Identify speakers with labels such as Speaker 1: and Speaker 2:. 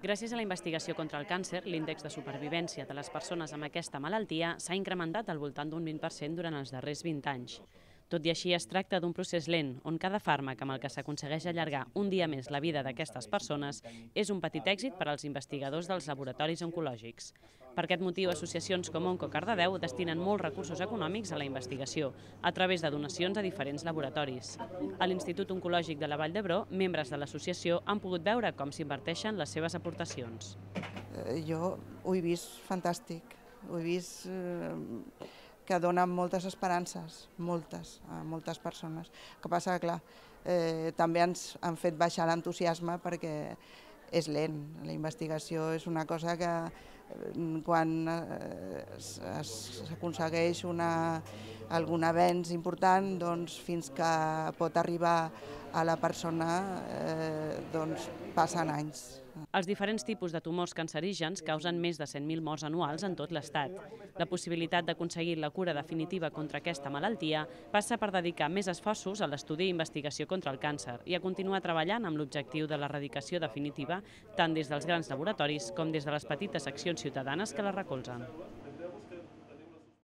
Speaker 1: Gràcies a la investigació contra el càncer, l'índex de supervivència de les persones amb aquesta malaltia s'ha incrementat al voltant d'un 20% durant els darrers 20 anys. Tot i així, es tracta d'un procés lent, on cada fàrmac amb el que s'aconsegueix allargar un dia més la vida d'aquestes persones és un petit èxit per als investigadors dels laboratoris oncològics. Per aquest motiu, associacions com Onco Cardedeu destinen molts recursos econòmics a la investigació, a través de donacions a diferents laboratoris. A l'Institut Oncològic de la Vall d'Hebron, membres de l'associació han pogut veure com s'inverteixen les seves aportacions.
Speaker 2: Jo ho he vist fantàstic, ho he vist que dona moltes esperances, a moltes persones. El que passa que, clar, també ens han fet baixar l'entusiasme perquè és lent. La investigació és una cosa que quan s'aconsegueix algun avenç important, doncs, fins que pot arribar a la persona passen anys.
Speaker 1: Els diferents tipus de tumors cancerígens causen més de 100.000 morts anuals en tot l'Estat. La possibilitat d'aconseguir la cura definitiva contra aquesta malaltia passa per dedicar més esforços a l'estudi i investigació contra el càncer i a continuar treballant amb l'objectiu de l'erradicació definitiva tant des dels grans laboratoris com des de les petites accions ciutadanes que la recolzen.